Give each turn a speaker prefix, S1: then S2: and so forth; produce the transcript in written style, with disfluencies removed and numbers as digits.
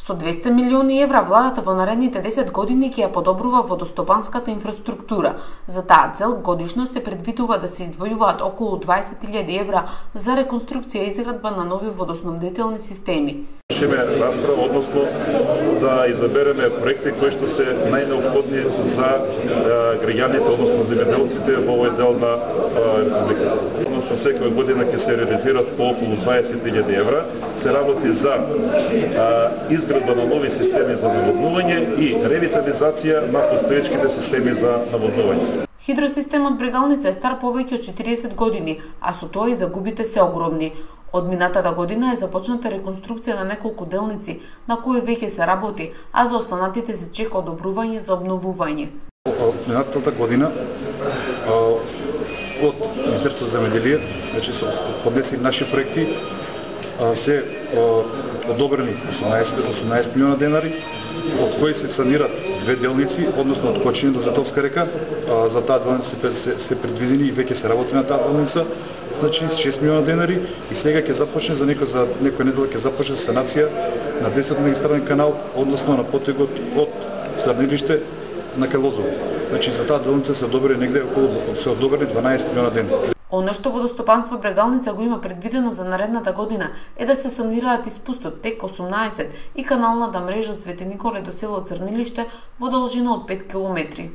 S1: Со 200 милиони евра владата во наредните 10 години ќе ја подобрува водостопанската инфраструктура. За таа цел годишно се предвидува да се издвојуваат околу 20.000 евра за реконструкција и изградба на нови водоснабдителни системи.
S2: Шеме расправа, односно да избереме проекти кои што се најнеопходни за граѓаните, односно земјоделците во овој дел на републиката. Односно секоја година ќе се реализираат по околу 20.000 евра. Се работи за изградба на нови системи за наводнување и ревитализација на постоечките системи за наводнување.
S1: Хидросистемот Брегалница е стар повеќе од 40 години, а со тоа и загубите се огромни. Од минатата година е започната реконструкција на неколку делници, на кои веќе се работи, а за останатите се чека одобрување за обновување.
S3: Минатата година од Министерството за земјоделие, значи се поднесени наши проекти, се одобрени 18 милиона денари, од кои се санират две делници, односно од Кочине до Затовска река. За таа делница се предвидени и веќе се работи на таа делница, значи 6 милиона денари, и сега ќе започне за некој недела ќе започне санација на 10 магистрален канал, односно на потегот од Срнилиште на Калозово. Значи за таа делница се одобрени негде околу 12 милиона денари.
S1: Она што водостопанство Брегалница го има предвидено за наредната година е да се санираат испустот Тек 18 и каналната мрежа од Свети Николе до село Црнилиште во должина од 5 километри.